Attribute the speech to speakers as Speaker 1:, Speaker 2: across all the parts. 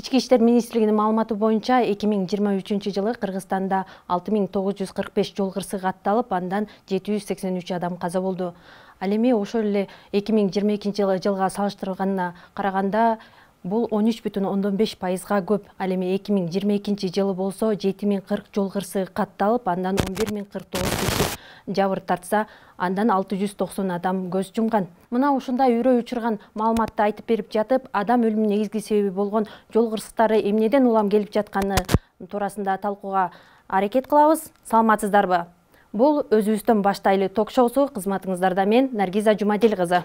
Speaker 1: Ички иштер министрлигинин маалыматы боюнча 2023-жылы Кыргызстанда 6945 жол кырсыгы катталып, андан 783 адам каза болду. Ал эми ошол эле 2022-жылга салыштырылганына караганда бул 13,5%га көп. Ал эми 2022-жылы болсо 7040 жол кырсыгы катталып, андан 11049 киши жабыр тартса, андан 690 адам көз жумган. Мына ушундай үрөй учурган маалыматты айтып берип жатып, адам өлүмүнүн негизги себеби болгон жол кырсыктары эмнеден улам келип жатканы туурасында талкууга аракет кылабыз. Саламатсыздарбы? Бул өзүбүздөн баштайлы ток-шоусу. Кызматыңыздарда мен Наргиза Жумадил кызы.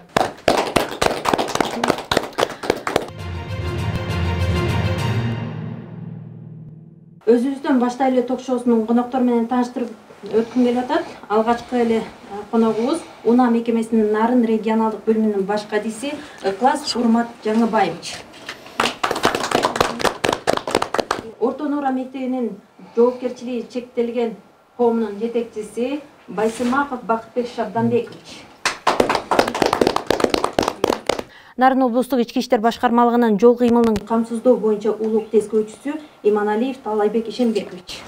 Speaker 1: Өзүбүздөн баштайлы ток-шоусунун коноктор менен тааныштырып өткүм келип атат. Алгачкы эле коногубуз УНА мекемесинин Нарын регионалдык бөлүмүнүн баш кадиси Ыклас Урмат Жаңыбаевич. Орто Нуура мектебинин жоопкерчилиги чектелген коомунун жетекчиси Байсымаков Бакытбек Шабданбекович. Нарын облустук ички иштер башкармалыгынын жол кыймылын камсыздоо боюнча улук тескөөчүсү Иманалиев Талайбек Ишембекович.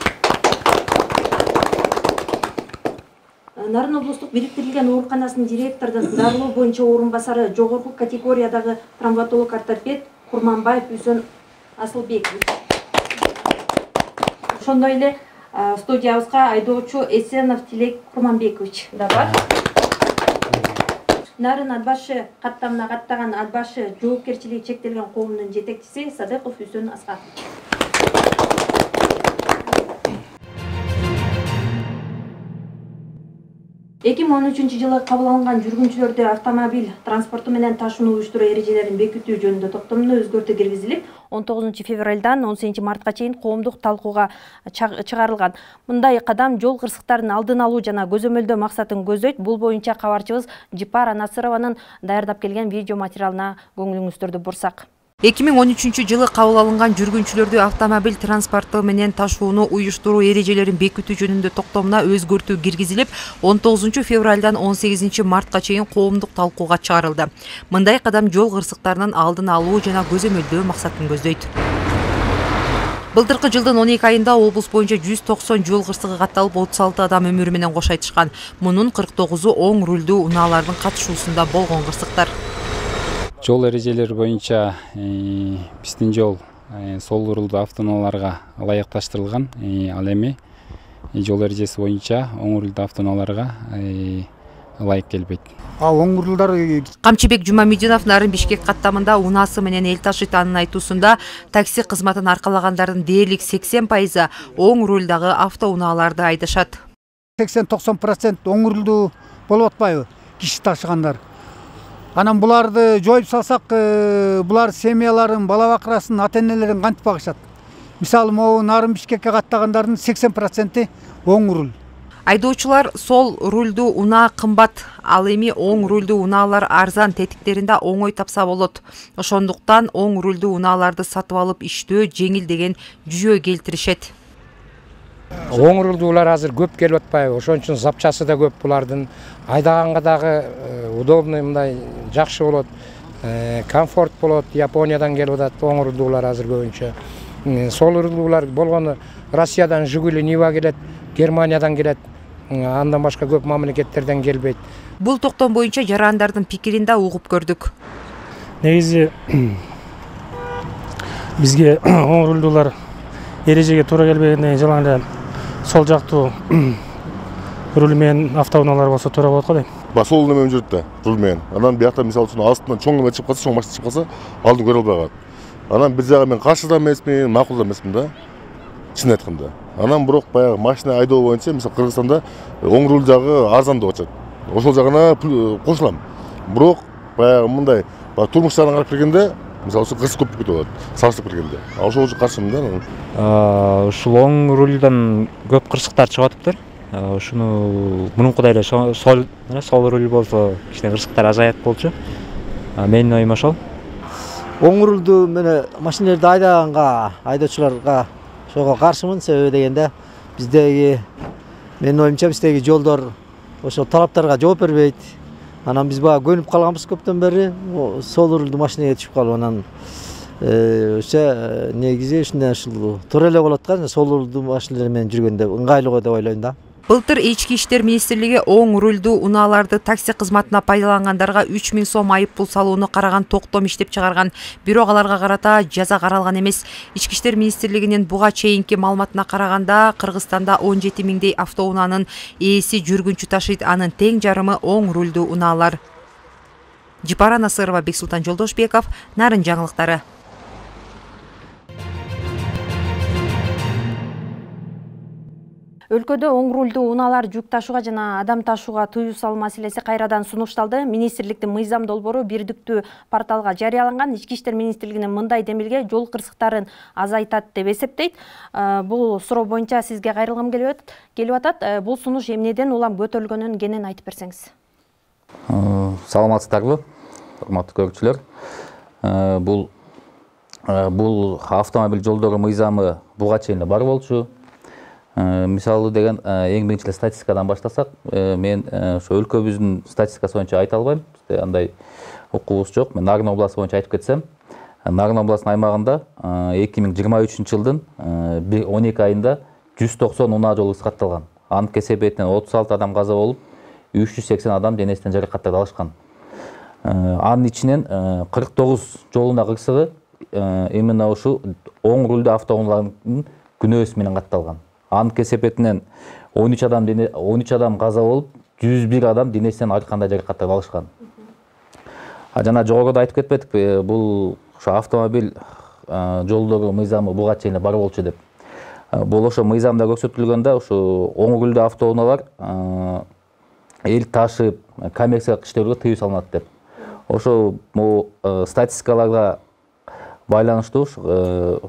Speaker 1: Нарын облустук бириктирилген ооруканасынын директорунун дарылоо боюнча орун басары жогорку категориядагы травматолог ортопед Курманбаев Үсөн Асылбекович. Ошондой эле студиябызга айдоочу Эсенов Тилек Курманбекович да бар. Нарын Атбашы каттамына каттаган Атбашы жоопкерчилиги чектелген коомунун жетекчиси Садыков Үсөн Аскарович. 2013-жылы кабыл алынган жүргүнчүлөрдү автомобиль транспорту менен ташууну уюштуруу эрежелерин бекитүү жөнүндө токтомдо өзгөртүү киргизилип, 19 февралдан 18 мартка чейин коомдук талкууга чыгарылган. Мындай кадам жол кырсыктарын алдын алуу жана көзөмөлдөө максатын көздөйт. Бул боюнча кабарчыбыз Жипара Насырованын даярдап келген видео материалына көңүлүңүздөрдү бурсак.
Speaker 2: 2013-жылы кабыл алынган жүргүнчүлөрдү автомобиль транспорту менен ташууну уюштуруу эрежелерин бекитүү жөнүндө токтомуна өзгөртүү киргизилип, 19 февралдан 18 мартка чейин коомдук талкууга чыгарылды. Мындай кадам жол кырсыктарынын алдын алуу жана көзөмөлдөө максатын көздөйт. Былтыркы жылдын 12 айында облус боюнча 190 жол кырсыгы катталып, 36 адам өмүрү менен кош айтышкан. Мунун 49-у оң рулдуу унаалардын катышуусунда болгон кырсыктар.
Speaker 3: Жол эрежелери боюнча биздин жол сол рулдуу автоунааларга ылайыкташтырылган. Ал эми жол эрежеси боюнча оң рулдуу автоунааларга ылайык келбейт.
Speaker 4: Ал оң рулдар
Speaker 2: Камчыбек Жумамидинов Нарын Бишкек каттамында унаасы менен эл ташыйт. Анын айтуусунда такси кызматын аркалагандардын дээрлик 80% оң рулдагы автоунааларды айдашат.
Speaker 4: 80-90% оң рулдуу болуп атпайбы киши ташыгандар. Анан буларды жоюп салсак, булар семьяларын, бала бакырасын, ата-энелерин кантип багышат? Мисалы, могу Нарын Бишкекке каттагандардын 80% оң руль.
Speaker 2: Айдоочулар сол рулдуу унаа кымбат, ал эми оң рулдуу унаалар арзан, тетиктеринде оңой тапса болот. Ошондуктан оң рулдуу унааларды сатып алып иштөө жеңил деген жүйө келтиришет.
Speaker 5: Оң рулдуулар азыр көп келип атпайбы? Ошон үчүн запчасы да көп булардын. Айдаганга дагы удобный, мындай жакшы болот. Комфорт болот. Япониядан келип атат оң рулдуулар азыр көбүнчө. Сол рулдуулар болгону Россиядан Жигули, Нива келет, Германиядан келет. Андан башка көп мамлекеттерден келбейт.
Speaker 2: Бул токтом боюнча жарандардын пикирин да угуп көрдүк.
Speaker 6: Негизи бизге оң рулдуулар эрежеге туура келбегенден жалаң эле сол жактуу руль менен автоунаалар болсо туура болот го дейм.
Speaker 7: Сол немен жүрүт да, руль менен. Анан биякта мисалы үчүн астынан чоң неме чыгып калса, чоң машина чыгып калса, алдын көрө албай калат. Анан бир жагы мен каршы да эмесмин, макул да эмесмин да. Чын айтканда. Анан бирок баягы машина айдоо боюнча мисалы Кыргызстанда оң руль жагы арзан деп атышат. Ошол жагына кошулам. Бирок баягы мындай турмуш жагынан карап келгенде мисалы кырсык көп кетип атат, салыштырып келгенде. Ошол үчүн каршымын да.
Speaker 8: Ушул оң рулдан көп кырсыктар чыгып атыптыр. Ушуну мурункудай эле сол руль болсо кичине кырсыктар азаят болчу. Менин оюм ошол.
Speaker 9: Оң рулдуу менен машиналарды айдаганга, айдоочуларга ошого каршымын. Себеби дегенде биздеги, менин оюмча биздеги жолдор ошол талаптарга жооп бербейт. Анан биз бага көнүп калганбыз көптөн бери. Сол рулдуу машинеге түшүп калып, анан Ошо негизи ушул туура эле болот да, сол рулдуу машиналар менен жүргөндө ыңгайлуу деп ойлойм да.
Speaker 2: Былтыр Ички иштер министрлиги оң рулдуу унааларды такси кызматына пайдалангандарга 3000 сом айыппул салууну караган токтом иштеп чыгарган. Бирок аларга карата жаза каралган эмес. Ички иштер министрлигинин буга чейинки маалыматына караганда, Кыргызстанда 17 миңдей автоунаанын ээси жүргүнчү ташыйт, анын тең жарымы оң рулдуу унаалар. Жипара Насырова, Бексултан Жолдошбеков, Нарын жаңылыктары.
Speaker 1: Өлкөдө оң рулдуу унаалар жүк ташууга жана адам ташууга тыюу салуу маселеси кайрадан сунушталды. Министрликтин мыйзам долбоору бирдиктүү порталга жарыяланган. Ички иштер министрлигинин мындай демилге жол кырсыктарын азайтат деп эсептейт. Бул суроо боюнча сизге кайрылгым келип атат. Бул сунуш эмнеден улам көтөрүлгөнүн кенен айтып берсеңиз.
Speaker 10: Саламатсыздарбы, урматтуу көрүүчүлөр. Бул автомобиль жолдору мыйзамы буга чейин бар болчу. Мисалы деген эң биринчи статистикадан баштасак, мен ошо өлкөбүздүн статистикасы боюнча айта албайм. Бизде андай укугубуз жок. Мен Нарын областы боюнча айтып кетсем, Нарын областынын аймагында 2023 жылдын 12 айында 190 унаа жол кырсыгы катталган. Анын кесепетинен 36 адам каза болуп, 380 адам денесинен жаракаттарды алышкан. Анын ичинен 49 жол унаа кырсыгы именно ушу оң рулдуу автоунаалардын күнөөсү менен катталган. Анын кесепетинен 13 адам каза болуп, 101 адам денесинен ар кандай жаракаттарды алышкан. Жана жогоруда айтып кетпедикпи, бул ошо автомобиль жолдору мыйзамы буга чейин бар болчу деп. Бул ошо мыйзамда көрсөтүлгөндө ошо оң рулдуу автоунаалар эл ташып, коммерциялык иштерге тыюу салынат деп. Ошо статистикаларга байланыштуу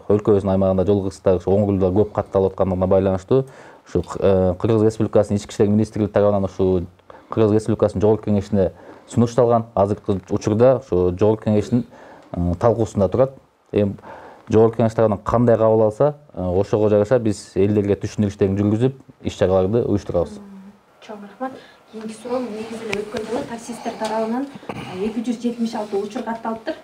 Speaker 10: өлкөбүздүн аймагында жол кырсыктары оң рулдуу көп катталып аткандыгына байланыштуу ушу Кыргыз Республикасынын Ички иштер министрлиги тарабынан ушу Кыргыз Республикасынын жогорку кеңешине сунушталган. Азыркы учурда ушу жогорку кеңештин талкуусунда турат. Эми жогорку кеңеш тарабынан кандай кабыл алса, ошого жараша биз элдерге түшүндүрүү иштерин жүргүзүп, иш-чараларды уюштурабыз.
Speaker 1: Чоң рахмат. Кийинки суроо, негизи эле өткөн жылы таксисттер тарабынан 276 учур катталыптыр.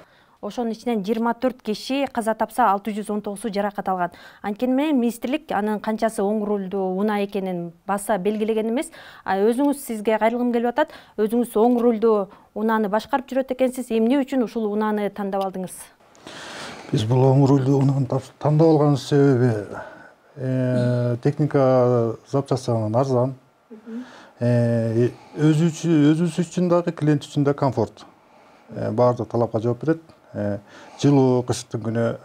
Speaker 1: Ошонун ичинен 24 киши каза тапса, 619 жаракат алган. Анткени менен министрлик анын канчасы оң рулдуу унаа экенин баса белгилеген эмес. Өзүңүз, сизге кайрылгым келип атат. Өзүңүз оң рулдуу унааны башкарып жүрөт экенсиз. Эмне үчүн ушул унааны тандап алдыңыз?
Speaker 11: Биз бул оң рулдуу унааны тандап алган себеби техника запчастарынан арзан. Өзүбүз үчүн дагы, клиент үчүн да комфорт. Баардык талапка жооп берет. Жылуу, кыштын күнү,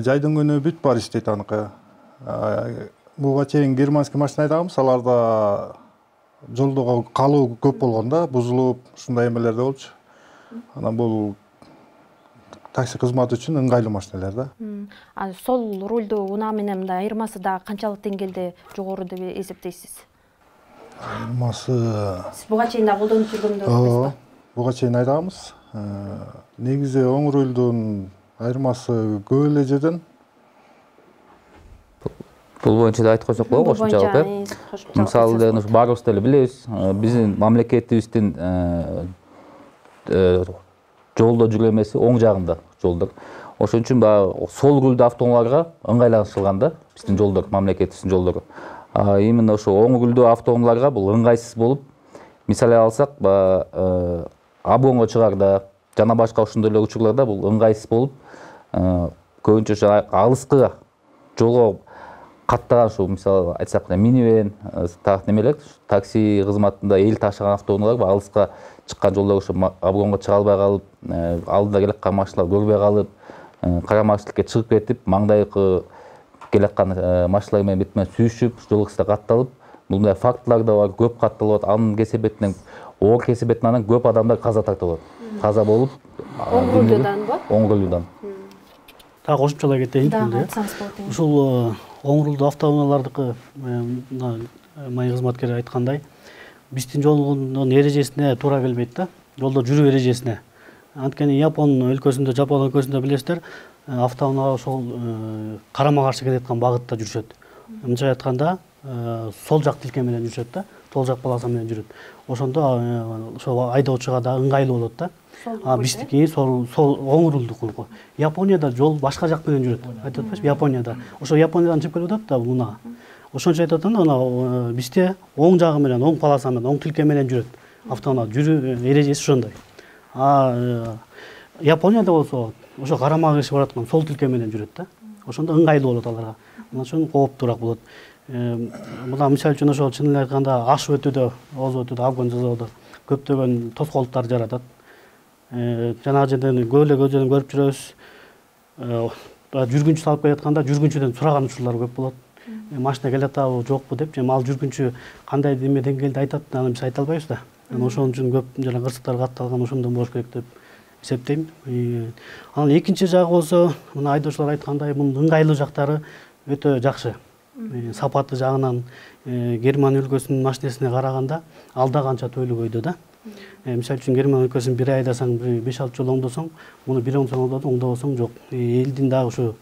Speaker 11: жайдын күнү бүт бар иштейт аныкы. Буга чейин германский машина айдаганбыз, аларда жолдого калуу көп болгондо бузулуп, ушундай эмелер да болчу. Анан бул такси кызматы үчүн ыңгайлуу машиналар да.
Speaker 1: Сол рулдуу унаа менен мындай айырмасы да канчалык деңгээлде жогору деп эсептейсиз?
Speaker 11: Айырмасы
Speaker 1: Сиз буга чейин да колдонуп жүргөндөрүңүз?
Speaker 11: Буга чейин айдаганбыз. Негизи оң рулдун айырмасы көп эле жерден.
Speaker 10: Бул боюнча да айтып койсок болобу, кошумчалык, э? Мисалы деген баарыбыз деле билебиз, биздин мамлекетибиздин жолдо жүрүү эмеси оң жагында жолдор. Ошон үчүн баягы сол рулдуу автоунааларга ыңгайлаштырылган да биздин жолдор, мамлекетибиздин жолдору. Именно ошо оң рулдуу автоунааларга бул ыңгайсыз болуп, мисалы алсак, Абонго чыгарда жана башка ошондой эле учурларда бул ыңгайсыз болуп, көбүнчө алыскы жолго каттаган ушу мисалы айтсак минивэн, немелер, такси кызматында эл ташыган автоунаалар алыска чыккан жолдор ушу обгонго чыга албай калып, алдыда келаткан машиналар көрбөй калып, карамачылыкка чыгып кетип, маңдайкы келаткан машиналар менен бетмен сүйүшүп, жол кырсыгы катталып, мындай фактылар да бар, көп катталып, анын кесепетинен оор кесепетинен көп адамдар каза тартып алат. Каза болуп,
Speaker 1: оң рулдуудан ба?
Speaker 10: Оң рулдуудан.
Speaker 6: Так, кошумчалай кетейин. Ушул оң рулдуу автоунаалардыкы май кызматкери айткандай, биздин жолдун эрежесине туура келбейт да, жолдо жүрүү эрежесине. Анткени Жапон өлкөсүндө билесиздер, автоунаалар ошол карама каршы келаткан багытта жүрүшөт. Мынча айтканда, сол жак тилке менен жүрүшөт да.
Speaker 12: сол жак полоса менен жүрөт. Ошондо ошо айдоочуга да ыңгайлуу болот да. Биздики сол оң рулдук. Японияда жол башка жак менен жүрөт. Айтып атпайсызбы, Японияда. Ошо Япониядан чыгып келип атат да унаа. Ошончо айтып атам да, бизде оң жагы менен, оң полоса менен, оң тилке менен жүрөт. Автоунаа жүрүү эрежеси ошондой. Японияда болсо ошо карама каршы бараткан сол тилке менен жүрөт да. Ошондо ыңгайлуу болот аларга. Мына ошон кооптуураак болот. Мына мисалы үчүн ошол чынын эле айтканда ашып өтүүдө, озуп өтүүдө, обгон жасоодо көптөгөн тоскоолдуктар жаратат. Жанагы жерден көзөдөн көрүп жүрөбүз. Жүргүнчү салып келатканда жүргүнчүдөн сураган учурлар көп болот. Машина келатабы, жокпу деп, ал жүргүнчү кандай деңгээлде айтат, аны биз айта албайбыз да. Ошон үчүн көп жана кырсыктар катталган ошондон болуш керек деп эсептейм. Анан экинчи жагы болсо, мына айдоочулар айткандай, мунун ыңгайлуу жактары өтө жакшы. Сапаты жагынан Германия өлкөсүнүн машинесине караганда алда канча төйлөгөйдө да. Мисалы үчүн Германия өлкөсүн бир айдасаң, 5-6 жыл оңдосоң, муну бир оңдосоң жок. Элдин дагы ушу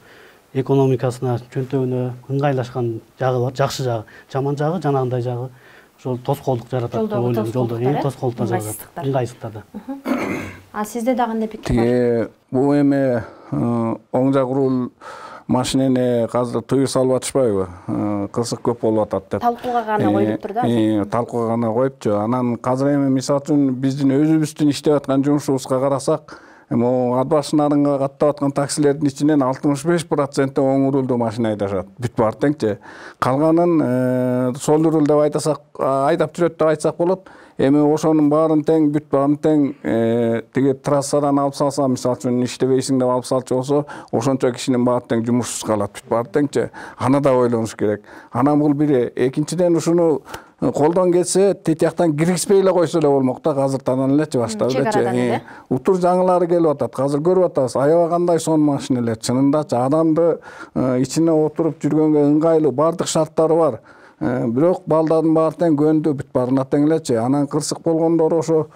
Speaker 12: экономикасына, чөнтөгүнө ыңгайлашкан жагы бар, жакшы жагы. Жаман жагы жанагындай жагы ошол тоскоолдук жаратат деп ойлойм. Жолдо тоскоолдуктар жаратат, ыңгайсыздыктарды.
Speaker 1: Сизде да кандай пикир бар?
Speaker 13: Бул эми оң жак руль машинени азыр тыюу салып атышпайбы? Кырсык көп болуп атат деп.
Speaker 1: Талкууга гана коюлуптур да.
Speaker 13: Талкууга гана коюпчу. Анан азыр эми мисалы үчүн биздин өзүбүздүн иштеп аткан жумушубузга карасак, Адбаш нарынга каттап аткан таксилердин ичинен 65% оң рулдуу машина айдашат. Бүт баары теңчи. Калганын сол руль деп айдап жүрөт деп айтсак болот. Эми ошонун баарын тең, бүт баарын тең тиги трассадан алып салса, мисалы үчүн иштебейсиң деп алып салчу болсо, ошончо кишинин баары тең жумушсуз калат, бүт баары теңчи. Аны да ойлонуш керек. Анан бул бири, экинчиден ушуну колдон келсе, тетияктан киргизбей эле койсо эле болмок да, азыртадан элечи баштап элечи. Утур жаңылары келип атат. Азыр көрүп атабыз, аябай кандай сонун машинелер, чынындачы адамды ичине отуруп жүргөнгө ыңгайлуу, бардык шарттары бар. Бирок балдардын баары тең көндү, бүт баарына тең элечи. Анан кырсык болгондор ошо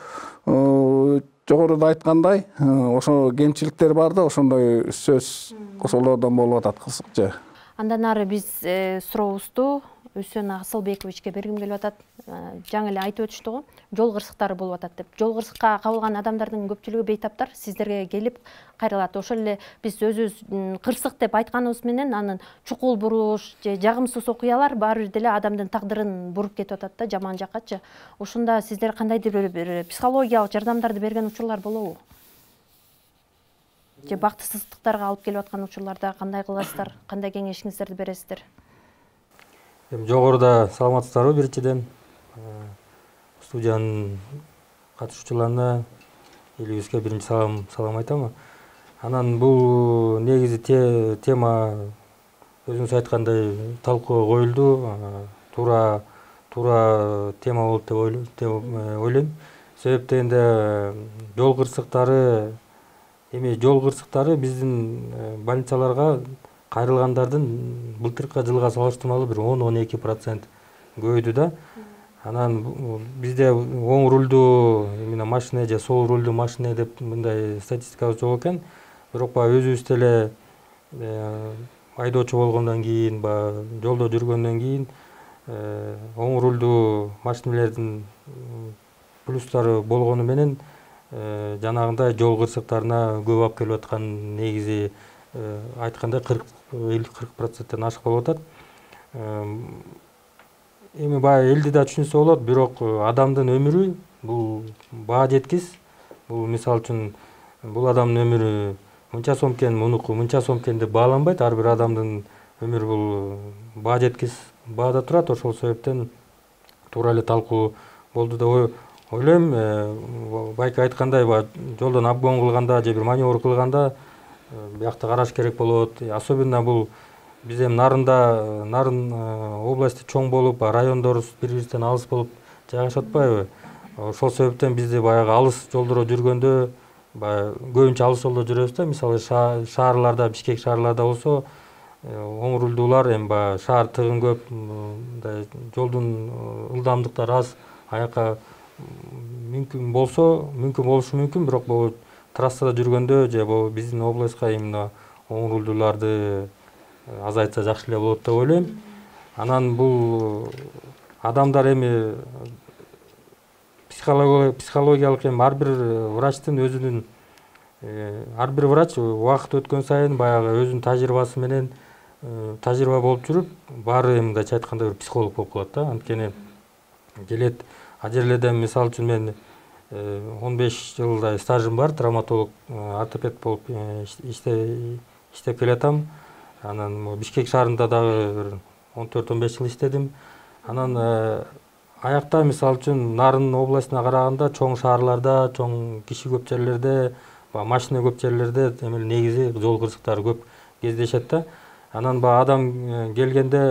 Speaker 13: жогоруда айткандай, ошо кемчиликтер бар да, ошондой сөз ошолордон болуп атат кырсыкчы.
Speaker 1: Андан ары биз сурообузду Үсөн Асылбековичке бергим келип атат. Жаңы эле айтып өтүштү го, жол кырсыктары болуп атат деп. Жол кырсыкка кабылган адамдардын көпчүлүгү бейтаптар сиздерге келип кайрылат. Ошол эле биз өзүбүз кырсык деп айтканыбыз менен анын чукул буруш же жагымсыз окуялар баары бир деле адамдын тагдырын буруп кетип атат да, жаман жаккачы. Ошондо сиздер кандайдыр бир психологиялык жардамдарды берген учурлар болобу? Же бактысыздыктарга алып келип аткан учурларда кандай кыласыздар, кандай кеңешиңиздерди бересиздер?
Speaker 14: Жогоруда саламатсыздарбы биринчиден. Студиянын катышуучуларына элибизге биринчи салам айтам. Анан бул негизи тема өзүңүз айткандай талкууга коюлду. Туура тема болот деп ойлойм. Себеп дегенде жол кырсыктары биздин больницаларга кайрылгандардын былтыркы жылга салыштырмалуу бир 10-12% көбөйдү да. Анан бизде оң рулдуу именно машина же сол рулдуу машина деп мындай статистикабыз жок экен. Бирок өзүбүз деле айдоочу болгондон кийин, жолдо жүргөндөн кийин оң рулдуу машинелердин плюстары болгону менен жанагындай жол кырсыктарына көп алып келип аткан негизи айтканда 40%-тен ашык болуп атат. Эми баягы элди да түшүнсө болот, бирок адамдын өмүрү бул баа жеткис. Бул мисалы үчүн бул адамдын өмүрү мынча сом экен, мунуку мынча сом экен деп бааланбайт. Ар бир адамдын өмүрү бул баа жеткис баада турат. Ошол себептен туура эле талкуу болду деп ойлойм. Байке айткандай, жолдон обгон кылганда же бир маневр кылганда биякта караш керек болот. Особенно бул биз эми нарын области чоң болуп, райондор бири-биринен алыс болуп жайгашып атпайбы? Ошол себептен бизде баягы алыс жолдордо жүргөндө көбүнчө алыс жолдо жүрөбүз да. Мисалы шаарларда, Бишкек шаарларда болсо, оң рулдуулар эми шаар тыгын көп, жолдун ылдамдыктары аз, аяка мүмкүн болушу мүмкүн, бирок бул трассада жүргөндө же биздин областка именно оң рулдууларды азайтса жакшы эле болот деп ойлойм. Анан бул адамдар эми психологиялык эми ар бир врачтын өзүнүн ар бир врач убакыт өткөн сайын баягы өзүнүн тажрыйбасы менен тажрыйба болуп жүрүп баары эми мындайча айтканда бир психолог болуп калат да. Анткени келет ал жерлерде мисалы үчүн мен 15 жылдай стажым бар, травматолог, ортопед болуп иштеп келатам. Анан Бишкек шаарында дагы 14-15 жыл иштедим. Анан аякта мисалы үчүн Нарын областына караганда чоң шаарларда, чоң киши көп жерлерде, машина көп жерлерде эми негизи жол кырсыктары көп кездешет да. Анан баягы адам келгенде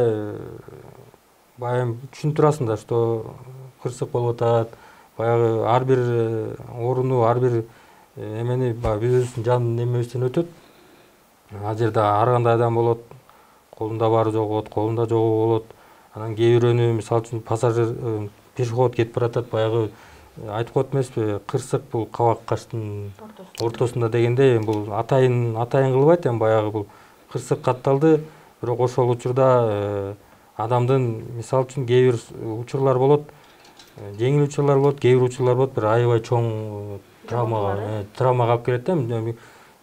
Speaker 14: баягы түшүнүп турасың да, что кырсык болуп атат. Баягы ар бир орунду, ар бир эмени өзүбүздүн жан немебизден өтөт. Ал жерде ар кандай адам болот, колунда бары жок колунда жогу болот. Анан кээ бирөөнү мисалы үчүн пассажир пешеход кетип баратат, баягы айтып коет эмеспи, кырсык бул кабак каштын ортосунда дегенде, бул атайын кылбайт, эми баягы бул кырсык катталды, бирок ошол учурда адамдын мисалы үчүн кээ бир учурлар болот, жеңил учурлар болот, кээ бир учурлар болот, бир аябай чоң травмага алып келет да.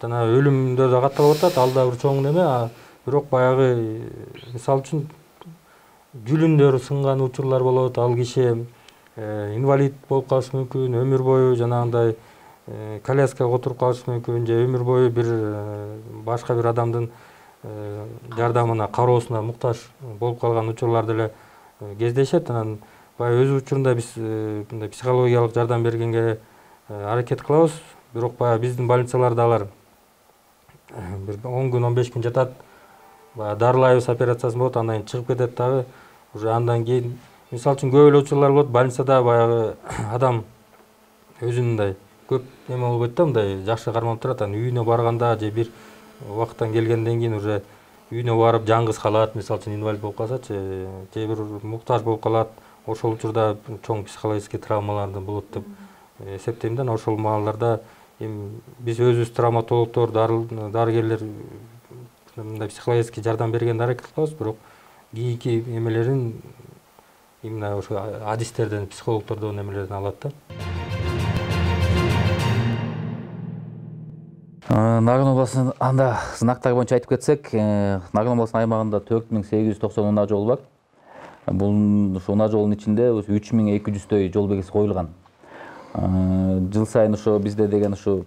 Speaker 14: Жана өлүмдөр да катталып атат, ал да бир чоң неме, бирок баягы мисалы үчүн жүлүндөр сынган учурлар болот, ал киши инвалид болуп калышы мүмкүн, өмүр бою жанагындай коляскага отуруп калышы мүмкүн, же өмүр бою бир башка бир адамдын жардамына, кароосуна муктаж болуп калган учурлар деле кездешет. Анан баягы өз учурунда биз мындай психологиялык жардам бергенге аракет кылабыз, бирок баягы биздин больницаларда алар бир 10 күн, 15 күн жатат, баягы дарылайбыз, операциясы болот, андан кийин чыгып кетет дагы. Уже андан кийин мисалы үчүн көп эле учурлар болот, больницада баягы адам өзүнүндай көп эме болбойт да, мындай жакшы карманып турат. Анан үйүнө барганда же бир убакыттан келгенден кийин уже үйүнө барып жалгыз калат, мисалы үчүн инвалид болуп калсачы, же бир муктаж болуп калат. Ошол учурда чоң психологический травмалар болот деп эсептейм да. Ошол маалдарда эми биз өзүбүз травматологдор, дарыгерлер мындай психологический жардам бергенге аракет кылабыз, бирок кийинки эмелерин именно ошо адистерден, психологдордон эмелерден алат да.
Speaker 10: Нарын областынын анда сынактары боюнча айтып кетсек, Нарын областынын аймагында 4890 унаа жол бар. Бул унаа жолдун ичинде 3200дөй жол белгиси коюлган. Жыл сайын ошо бизде деген ошо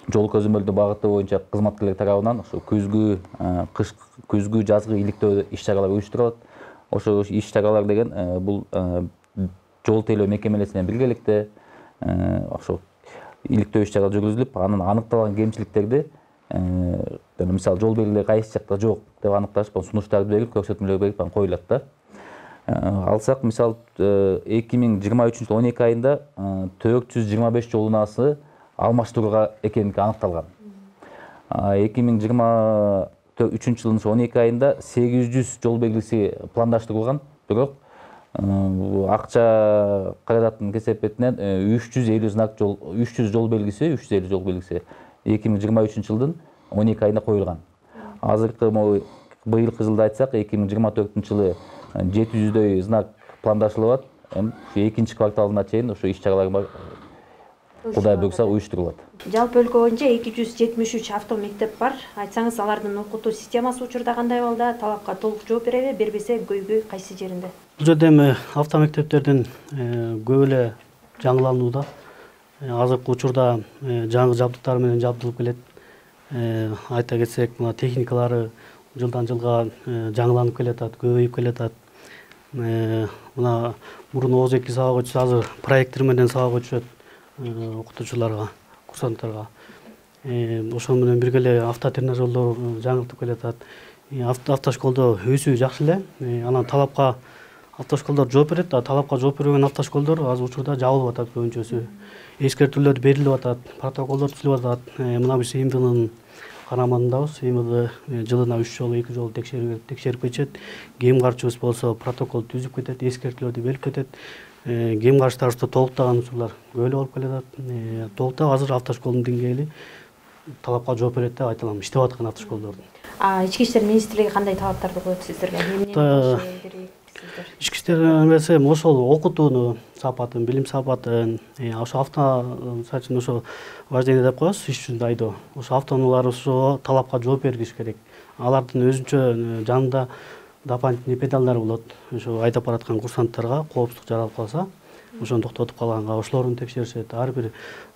Speaker 10: жол көзөмөлдөө багыты боюнча кызматкерлер тарабынан ошо күзгү, жазгы иликтөө иш-чаралар уюштурулат. Ошо иш-чаралар деген бул жол тейлөө мекемелеринен биргеликте ошо иликтөө иш-чара жүргүзүлүп, анын аныкталган кемчиликтерди мисалы жол белгилери кайсы жакта жок деп аныкташ, сунуштарды берип, көрсөтмөлөр берип коюлат да. Алсак, мисалы 2023 жылы 12 айында 425 жол унаасы алмаштырууга экенинки аныкталган. 2023 жылдын 12 айында 800 жол белгиси пландаштырылган, бирок акча каражатынын кесепетинен 350 жол белгиси 2023 жылдын 12 айында коюлган. Азыркы быйылкы жылда айтсак, 2024 жылы 700дөй знак пландашылып атат. Экинчи кварталына чейин ошо иш-чаралар Кудай буйрса уюштурулат.
Speaker 1: Жалпы өлкө боюнча 273 автомектеп бар. Айтсаңыз, алардын окутуу системасы учурда кандай болду? Талапка толук жооп береби, бербесе көйгөй кайсы жеринде?
Speaker 12: Бул жерде эми автомектептердин көп эле жаңыланууда. Азыркы учурда жаңы жабдыктар менен жабдылып келет. Айта кетсек, мына техникалары жылдан жылга жаңыланып келатат, көбөйүп келатат. Мына мурун ооз-2 сабак өтсө, азыр проектор менен сабак өтүшөт окутуучуларга, курсанттарга. Ошол менен бирге эле автотренажерлор жаңылтып келатат. Автошколдо өсүү жакшы эле. Анан талапка автошколдор жооп берет, талапка жооп бербеген автошколдор азыр учурда жабылып атат көбүнчөсү. Эскертүүлөр берилип атат, протоколдор түзүлүп атат. Мына биз ИМВнын карамандабыз. ИМВ жылына 3 жолу 2 жолу текшерип кетет. Кем карчыбыз болсо протокол түзүп кетет, эскертүүлөрдү берип кетет. Кем карштарыбызды толуктаган учурлар көп эле болуп келатат. Толуктап азыр автошколдун деңгээли талапка жооп берет деп айта алам, иштеп аткан автошколдордун.
Speaker 1: Ички иштер министрлиги кандай талаптарды коет сиздерге?
Speaker 12: ички иштер МСМ ошол окутууну сапатын, билим сапатын, ошо мисалы үчүн ошо вождение деп коебуз, иш жүзүндө айдоо. Ошо автоунаалар ошо талапка жооп бергиш керек. Алардын өзүнчө жанында дополнительный педалдар болот. Ошо айдап бараткан курсанттарга коопсуздук жаралып калса, ошону токтотуп калганга ошолорун текшеришет. Ар бир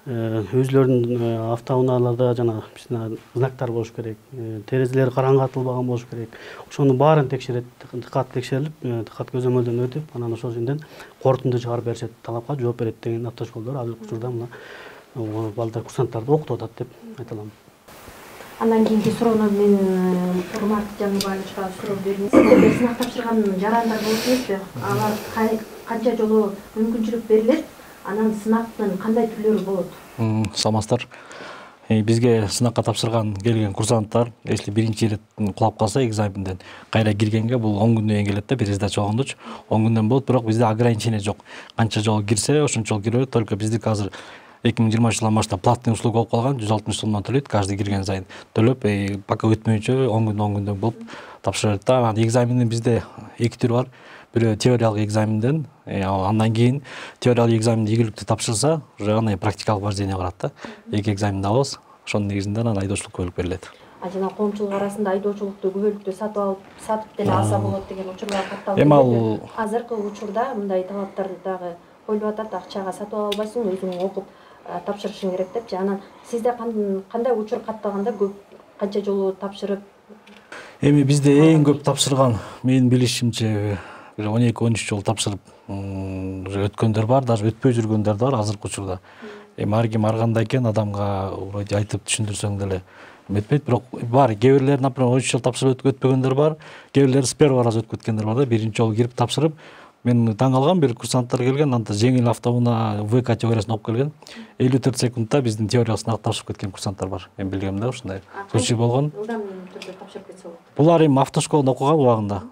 Speaker 12: өзүлөрүнүн автоунааларда жана знактар болуш керек. Терезелери караңгатылбаган болуш керек. Ошонун баарын текшерет, дыкат текшерилип, дыкат көзөмөлдөн өтүп, анан ошол жерден корутунду чыгарып беришет. Талапка жооп берет деген автошколдор азыркы учурда мына балдар курсанттарды окутуп атат деп айта алам.
Speaker 1: Андан кийинки суроону мен Урмат Жаныбаевичке суроо берейин. Сиздерге сынак тапшырган жарандар болуп эмеспи? Алар канча жолу мүмкүнчүлүк берилет? Анан сынактын кандай түрлөрү болот?
Speaker 15: Саламатсыздар. Бизге сынакка тапшырган келген курсанттар, если биринчи ирет кулап калса экзаменден кайра киргенге бул 10 күндөн кийин келет да, бир сдача болгондочу 10 күндөн болот, бирок бизде ограничение жок. Канча жолу кирсе, ошончо кире берет. Только биздики азыр 2020 жылдан баштап платный услуга болуп калган, 160 сомдон төлөйт, каждый кирген сайын төлөп, пока өтмөйүнчө 10 күндөн болуп тапшырат да. Анан экзаменден бизде 2 түрү бар. Бирөө теориялык экзаменден, андан кийин теориялык экзаменди ийгиликтүү тапшырса, уже андай практикалык вождение барат да. 2 экзаменди алабыз. Ошонун негизинде анан айдоочулукка бөлүп берилет.
Speaker 1: Жана коомчулук арасында айдоочулукту күбөлүктүү сатып деле алса болот деген учурлар катталып
Speaker 15: келди.
Speaker 1: Азыркы учурда мындай талаптар дагы коюлуп атат, акчага сатып ала албайсың, өзүң окуп тапшырышың керек депчи. Анан сизде кандай учур катталганда көп канча жолу тапшырып?
Speaker 15: Эми бизде эң көп тапшырган, менин билишимче 12-13 жол тапшырып уже өткөндөр бар, даже өтпөй жүргөндөр бар азыркы учурда. Эми ар ким ар кандай экен, адамга вроде айтып түшүндүрсөң деле өтпөйт, бирок бар. Кээ бирлер, например, 13 жол тапшырып өтпөгөндөр бар, кээ бирлер с первого раза өтүп кеткендер бар да, биринчи жолу кирип тапшырып. Мен таң калган, бир курсанттар келген, анда жеңил автоунаа В категориясын окуп келген. 54 секундта биздин теориялык сынакты тапшырып кеткен курсанттар бар. Мен билгемде ушундай случай болгон.
Speaker 1: Ылдам түрдө тапшырып кетсе болот.
Speaker 15: Булар эми автошколдо окуган убагында.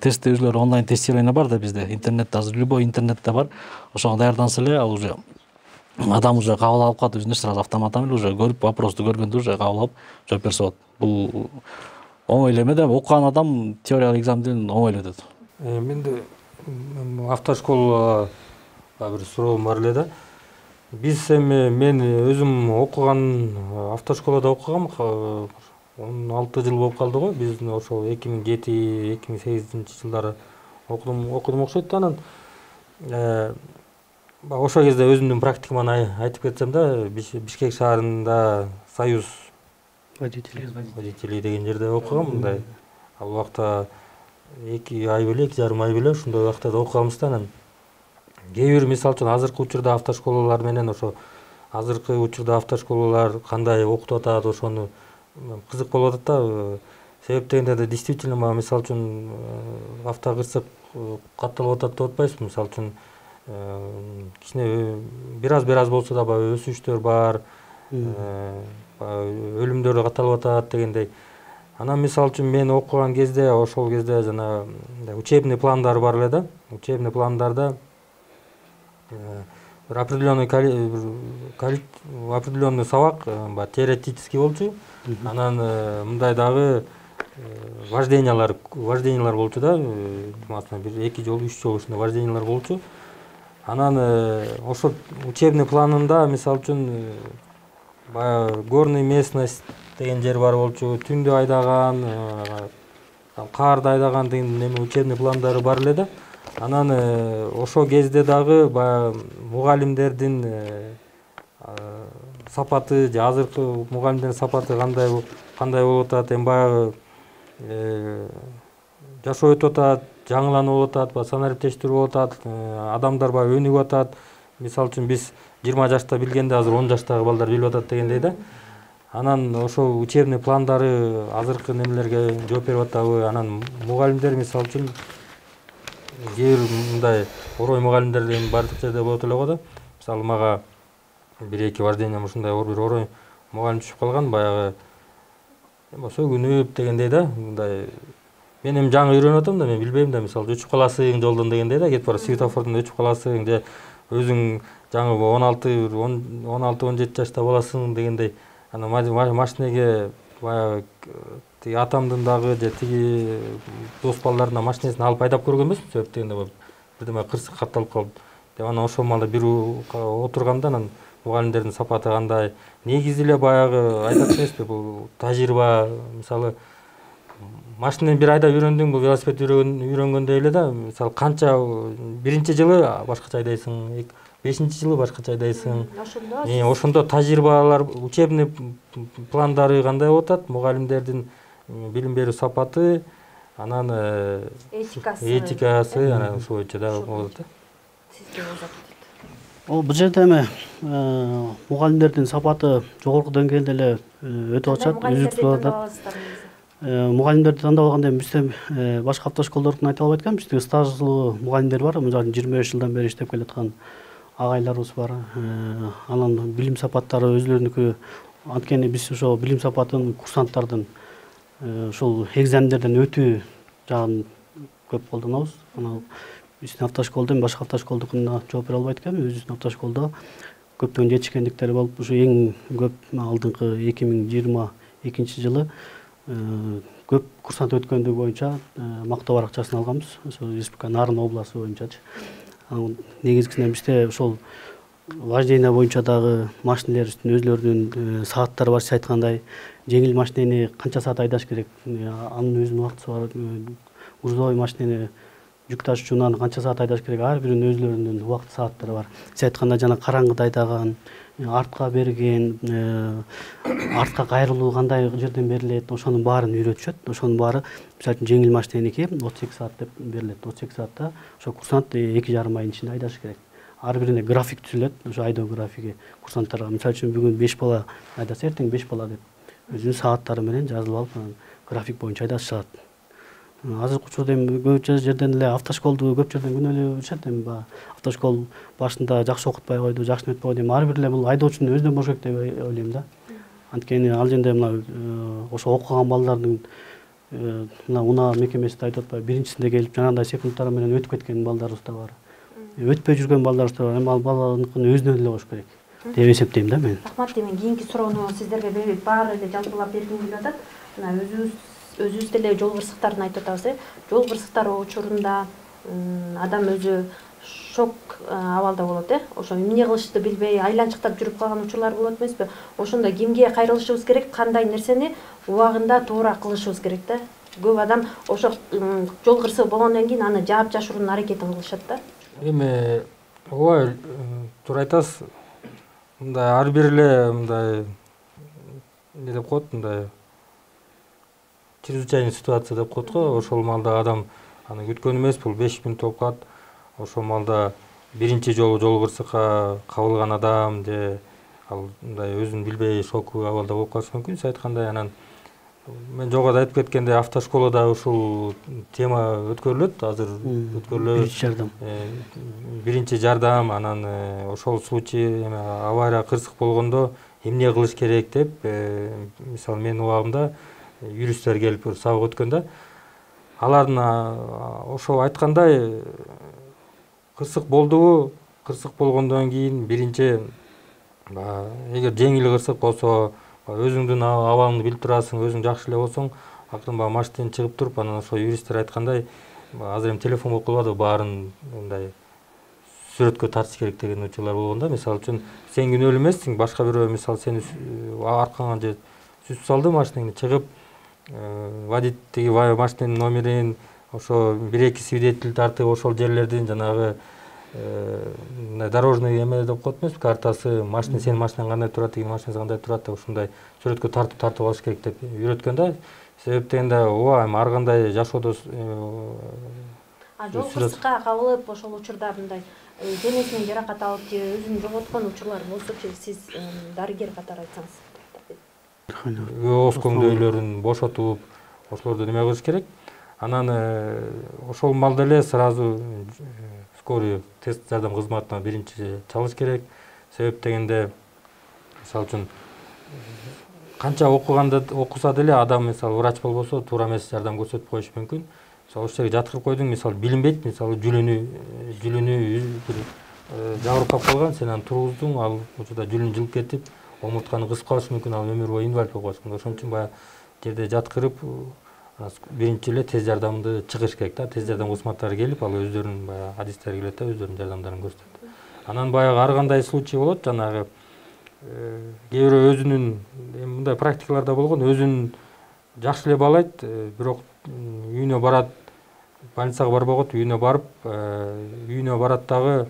Speaker 15: Тестте өзүлөрү онлайн тестирование бар да бизде, интернетте азыр любой интернетте бар. Ошого даярданса эле, ал уже адам уже кабыл алып калат, өзүнө сразу автоматтан эле уже көрүп, вопросту көргөндө уже кабыл алып жооп берсе болот. Бул оңой эле эме да, окуган адам теориялык экзаменден оңой эле өтөт.
Speaker 14: Менде автошкола бир суроом бар эле да. Биз эми мен өзүм окуган автошколада окугам, 16 жыл болуп калды го. Биз ошол 2007-2008 жылдары окудум окшойт. Анан ошол кезде өзүмдүн практикаманы айтып кетсем да, Бишкек шаарында Союз водителей деген жерде окугам. Мындай ал убакта 2 ай беле, 2,5 ай беле ушундай убакта окуганбыз да. Анан кээ бир мисалы үчүн азыркы учурда автошколалар менен ошо азыркы учурда автошколалар кандай окутуп атат, ошону кызык болуп атат да. Себеп дегенде да действительно мисалы үчүн автокырсык катталып атат деп атпайбызбы? Мисалы үчүн кичине бир аз болсо да баягы өсүштөр бар, өлүмдөр катталып атат дегендей. Анан мисалы үчүн мен окуган кезде, ошол кезде жана учебный пландар бар эле да. Учебный пландарда бир определенный сабак теоретический болчу. Анан мындай дагы вождениялар болчу да. Маsalan, 1-2 жолу, 3 жолу ушундай вождениялар болчу. Анан ошол учебный планында мисалы үчүн баягы горный местность деген жер бар болчу, түндө айдаган, каарда айдаган деген эме учебный пландары бар эле да. Анан ошол кезде дагы баягы мугалимдердин сапаты, же азыркы мугалимдердин сапаты кандай болуп атат, эми баягы жашоо өтүп атат, жаңыланып болуп атат, санариптештирүү болуп атат, адамдар баягы өнүгүп атат. Мисалы үчүн биз 20 жашта билгенде азыр 10 жаштагы балдар билип атат дегендей да. Анан ошол учебный пландары азыркы немелерге жооп берип атабы? Анан мугалимдер мисалы үчүн кээ бир мындай орой мугалимдер бардык жерде болот эле го да. Мисалы мага 1-2 вождением ушундай бир орой мугалим түшүп калган, баягы сөгүнүп дегендей да. Мындай мен эми жаңы үйрөнүп атам да, мен билбейм да, мисалы өчүп каласың жолдон дегендей да, кетип барып светофордон өчүп каласың, же өзүң жаңы 16-17 жашта боласың дегендей. Анан машинеге баягы тиги атамдын дагы же тиги дос балдарына машинесин алып айдап көргөн эмесмин, себеп дегенде бирдеме кырсык катталып калып деп анан ошол маалда бир отурганда анан мугалимдердин сапаты кандай, негизи эле баягы айтат эмеспи, бул тажрыйба. Мисалы машинени бир айдап үйрөндүң, бул велосипед үйрөнгөндөй эле да. Мисалы канча биринчи жылы башкача айдайсың, 5-жылы башкача айдайсың. Ошондо тажрыйбалар, учебный пландары кандай болуп атат, мугалимдердин билим берүү сапаты, анан этикасы анан ошол боюнча да болот да.
Speaker 12: Бул жерде эми мугалимдердин сапаты жогорку деңгээлде эле өтүп атышат, үзүктүү атат. Мугалимдерди тандап алганда бизде башка автошколдордун айта албайт экенбиз. Бизде стаждуу мугалимдер бар, мисалы 25 жылдан бери иштеп келаткан агайларыбыз бар. Анан билим сапаттары өзлөрүнүкү. Анткени биз ошо билим сапатын курсанттардын ушул экзамендерден өтүү жагын көп колдонобуз. Анан биздин автошколдо башка автошколдукуна жооп бере албайт экенбиз. Өзүбүздүн автошколдо көптөгөн жетишкендиктери болуп, ушу эң көп алдыңкы 2022 жылы көп курсант өткөндүгү боюнча мактоо баракчасын алганбыз. Ошо республика Нарын областы боюнчачы. Негизгисинен бизде ошол вождение боюнча дагы машинелерибиздин өзлөрүнүн сааттары бар. Сиз айткандай, жеңил машинени канча саат айдаш керек, анын өзүнүн убактысы бар. Грузовой машинени жүк ташуучунан канча саат айдаш керек, ар биринин өзлөрүнүн убакыт сааттары бар. Сиз айткандай жана караңгыда айдаган, артка берген, артка кайрылуу кандай жерден берилет, ошонун баарын үйрөтүшөт. Ошонун баары мисалы үчүн жеңил машиненики 38 саат деп берилет. 38 саатта ошо курсант 2,5 айдын ичинде айдашы керек. Ар бирине график түзүлөт, ошо айдоо графиги курсанттарга. Мисалы үчүн бүгүн 5 бала айдаса, эртең 5 бала деп өзүнүн сааттары менен жазылып алып, график боюнча айдашат. Азыркы учурда эми көп жерден эле автошколду көп жерден күнөөлөй беришет. Эми автошкол башында жакшы окутпай койду, жакшы өтпөй койду. Эми ар бир эле бул айдоочунун өзүнөн болуш керек деп ойлойм да. Анткени ал жерде мына ошо окуган балдардын мына унаа мекемесинде айтып атпайбы, биринчисинде келип жанагындай секундтар менен өтүп кеткен балдарыбыз да бар. Өтпөй жүргөн балдарыбыз да бар. Эми ал баланыкын өзүнөн эле болуш керек деп эсептейм да мен.
Speaker 1: Рахмат. Эми кийинки суроону сиздерге баары эле жалпылап бергим келип атат. Мына өзүбүз деле жол кырсыктарын айтып атабыз. Жол кырсыктары учурунда адам өзү шок абалда болот, ошо эмне кылышты билбей айланчыктап жүрүп калган учурлар болот эмеспи? Ошондо кимге кайрылышыбыз керек, кандай нерсени убагында туура кылышыбыз керек да. Көп адам ошо жол кырсыгы болгондон кийин аны жаап жашыруунун аракетин кылышат да.
Speaker 14: Эми ооба туура айтасыз. Мындай ар бир эле мындай эмне деп коет, мындай чрезвычайный ситуация деп коет го. Ошол маалда адам аны күткөн эмес, бул 5 мүнөт болуп калат. Ошол маалда биринчи жолу жол кырсыкка кабылган адам же ал мындай өзүн билбей шоку абалда болуп калышы мүмкүн. Сиз айткандай, анан мен жогоруда айтып кеткендей автошколада ушул тема өткөрүлөт. Азыр өткөрүлөт. Биринчи жардам, анан ошол случай авария кырсык болгондо эмне кылыш керек деп, мисалы менин убагымда юристтер келип сабак өткөн да. Алардын ошо айткандай кырсык болдубу, кырсык болгондон кийин биринчи эгер жеңил кырсык болсо өзүңдүн абалыңды билип турасың, өзүң жакшы эле болсоң, акырын машинеден чыгып туруп, анан ошо юристтер айткандай, азыр эми телефон болуп калбады, баарын мындай сүрөткө тартыш керек деген учурлар болгон да. Мисалы үчүн сен күнөөлүү эмессиң, башка бирөө мисалы сени аркаңан же сүзүп салды машинеңди, чыгып водитель машиненин номерин, ошо 1-2 свидетель тартып, ошол жерлердин жанагы дорожный эме деп коет эмеспи, картасы, машина сенин машинаң кандай турат, тигинин машинасы кандай турат деп ушундай сүрөткө тартып алыш керек деп үйрөткөн да. Себеп дегенде ооба эми ар кандай жашоодо
Speaker 1: жол кырсыкка кабылып, ошол учурда мындай денесинен жаракат алып же өзүн жоготкон учурлар болсочу, сиз дарыгер катары айтсаңыз.
Speaker 14: Оскоңдөйлөрүн бошотуп, ошолорду неме кылыш керек. Анан ошол маалда эле сразу скорый тест жардам кызматына биринчи чалыш керек. Себеп дегенде мисалы үчүн канча окуса деле адам, мисалы врач болбосо, туура эмес жардам көрсөтүп коюшу мүмкүн. Мисалы ошол жерге жаткырып койдуң, мисалы билинбейт, мисалы жүлүнү жабырып калып калган, сен аны тургуздуң, ал учурда жүлүн жылып кетип, омуртканы кысып калышы мүмкүн, ал өмүр бою инвалид болуп калышы мүмкүн. Ошон үчүн баягы жерде жаткырып биринчи эле тез жардамды чыгыш керек да. Тез жардам кызматтары келип, ал өздөрүнүн баягы адистери келет да, өздөрүнүн жардамдарын көрсөтөт. Анан баягы ар кандай случай болот, жанагы кээ бирөө өзүнүн мындай практикаларда болгон, өзүн жакшы эле баалайт, бирок үйүнө барат, больницага барбагат, үйүнө барып, үйүнө барат дагы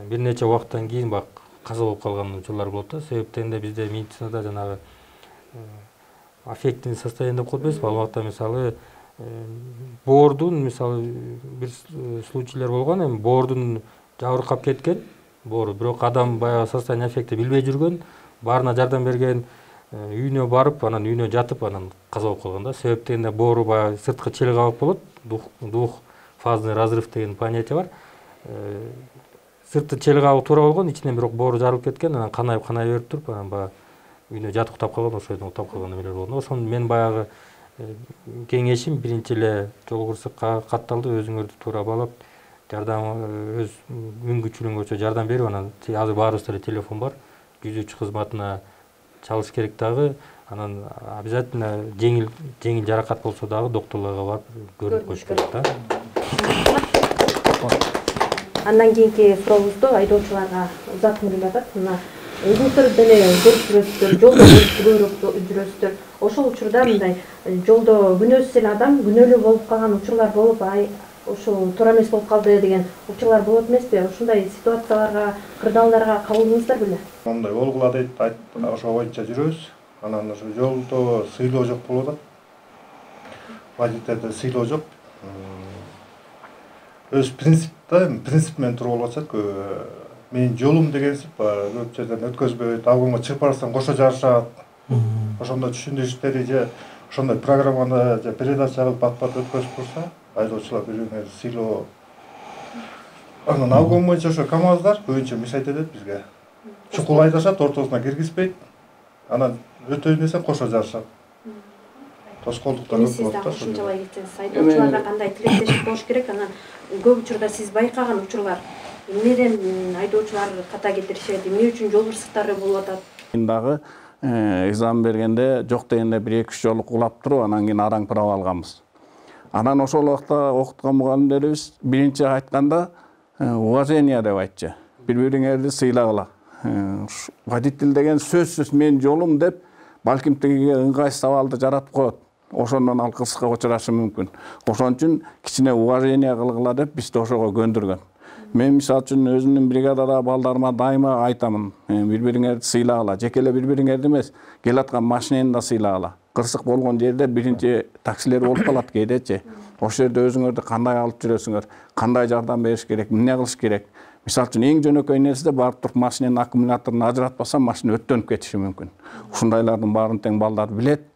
Speaker 14: бир нече убакыттан кийин баягы каза болуп калган учурлар болот да. Себептен бизде медицинада жанагы аффективный состояние деп коет эмеспи, ал убакта мисалы боордун, мисалы бир случайлар болгон, эми боордун жабыркап кеткен, боору, бирок адам баягы состояние аффекти билбей жүргөн, баарына жардам берген, үйүнө барып, анан үйүнө жатып, анан каза болуп калган да. Себептен боору баягы сырткы чел кабык болот, двухфазный разрыв деген понятие бар. Сыртты чел кабык туура болгон, ичинен бирок боору жарылып кеткен, анан канайып берип туруп, анан баягы үйүнө жатып уктап калган, ошол жерден уктап калган эмелер болгон. Ошону мен баягы кеңешим биринчи эле жол кырсыкка катталды, өзүңөрдү туура баалап, жардам өз мүмкүнчүлүгүңөрчө жардам берип, анан азыр баарыбызда эле телефон бар, 103 кызматына чалыш керек дагы, анан обязательно жеңил жаракат болсо дагы докторлорго барып көрүнүп коюш керек да.
Speaker 1: Андан кийинки сурообузду айдоочуларга узатып атат. Мына өзүңүздөр деле көрүп жүрөсүздөр, жолдо көрүп жүрөсүздөр. Ошол учурда мындай жолдо күнөөсүз эле адам күнөөлүү болуп калган учурлар болуп, ошол туура эмес болуп калды деген учурлар болот эмеспи? Ошондой ситуацияларга, кырдаалдарга кабылдыңыздар беле?
Speaker 11: Мындай болгула дейт, ошо боюнча жүрөбүз. Анан ошо жолдо сыйлоо жок болуп атат. Водительде сыйлоо жок. Өз принцип менен туруп болуп атат. Менин жолум дегенсип, көп жерден өткөзбөйт, обгонго чыгып барсаң кошо жарышат. Ошондой түшүндүрүштөрү же ошондой программаны же передача кылып бат-бат өткөзүп турса, айдоочулар бири-бирине сыйлоо. Анан обгон боюнча ошо КАМАЗдар көбүнчө мешайт этет бизге. Чукул айдашат, ортосуна киргизбейт. Анан өтөйүн десең кошо жарышат. Тоскоолдуктар көп болот да.
Speaker 1: Ушунчалай кетсеңиз, айдоочуларга кандай тилектешик болуш керек? Анан көп учурда сиз байкаган учурлар эмнеден айдоочулар ката кетиришет, эмне үчүн жол кырсыктары болуп атат?
Speaker 13: Дагы экзамен бергенде жок дегенде 1-2 жолу кулап туруп, анан кийин араң право алганбыз. Анан ошол убакта окуткан мугалимдерибиз биринчи айтканда уважение деп айтчу. Бири-бириңерди сыйлагыла. Водитель деген сөзсүз менин жолум деп, балким тигиге ыңгайсыз сабалды жаратып коет. Ошондон ал кырсыкка учурашы мүмкүн. Ошон үчүн кичине уважение кылгыла деп бизди ошого көндүргөн. Мен мисалы үчүн өзүмдүн бригадада балдарыма дайыма айтамын, бири-бириңерди сыйлагыла, жеке эле бири-бириңерди эмес, келаткан машинени да сыйлагыла. Кырсык болгон жерде биринчи таксилер болуп калат кээдечи. Ошол жерде өзүңөрдү кандай алып жүрөсүңөр, кандай жардам бериш керек, эмне кылыш керек. Мисалы үчүн эң жөнөкөй нерсе барып туруп машиненин аккумуляторун ажыратпаса, машина өттөнүп кетиши мүмкүн. Ушундайлардын баарын тең балдар билет.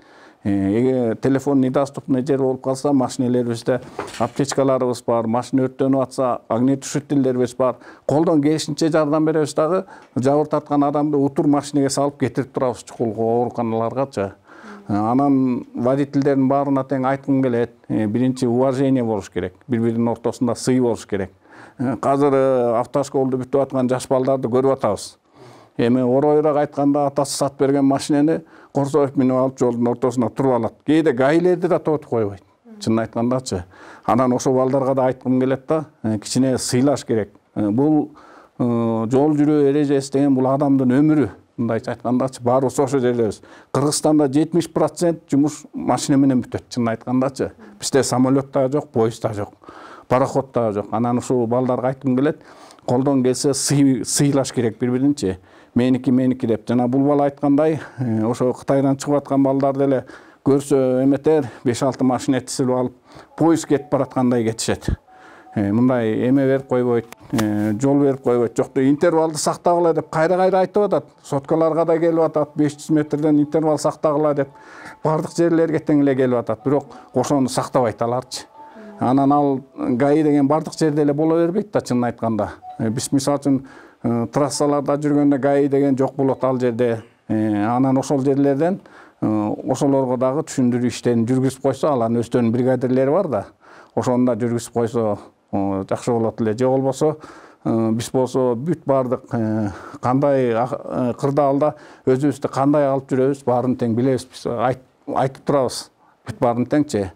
Speaker 13: Телефон недоступный жер болуп калса, машинелерибизде аптечкаларыбыз бар, машина өрттөнүп атса, огнетушителдерибиз бар. Колдон келишинче жардам беребиз дагы, жабыр тарткан адамды утур машинеге салып кетирип турабыз чукулга, ооруканаларгачы. Анан водительдердин баарына тең айткым келет, биринчи уважение болуш керек, бири-биринин ортосунда сый болуш керек. Азыр автошколду бүтүп аткан жаш балдарды көрүп атабыз. Эми оройраак айтканда атасы сатып берген машинени Корсоев минип алып жолдун ортосуна туруп алат. Кээде гаилерди да тотуп койбойт. Чынын айткандачы. Анан ошол балдарга да айткым келет да, кичине сыйлаш керек. Бул жол жүрүү эрежеси деген бул адамдын өмүрү. Мындайча айткандачы, баарыбыз ошол жердебиз. Кыргызстанда 70% жумуш машина менен бүтөт, чынын айткандачы. Бизде самолет да жок, поезд да жок, пароход да жок. Анан ушул балдарга айткым келет, колдон келсе сыйлаш керек бири-биринчи. Меники деп. Жана бул бала айткандай, ошо Кытайдан чыгып аткан балдар деле көрсө эметер, 5-6 машина тизилип алып, поезд кетип бараткандай кетишет. Мындай эме берип койбойт, жол берип койбойт. Жокто интервалды сактагыла деп кайра-кайра айтып атат. Соткаларга да келип атат, 500 метрден интервал сактагыла деп. Бардык жерлерге тең эле келип атат, бирок ошону сактабайт аларчы. Анан ал ГАИ деген бардык жерде эле боло бербейт да, чынын айтканда. Биз мисалы үчүн трассаларда жүргөндө ГАИ деген жок болот ал жерде. Анан ошол жерлерден ошолорго дагы түшүндүрүү иштерин жүргүзүп койсо, алардын өздөрүнүн бригадирлери бар да. Ошону да жүргүзүп койсо жакшы болот эле. Же болбосо биз болсо бүт бардык кандай кырдаалда өзүбүздү кандай алып жүрөбүз, баарын тең билебиз. Биз айтып турабыз. бүт баарын теңчи.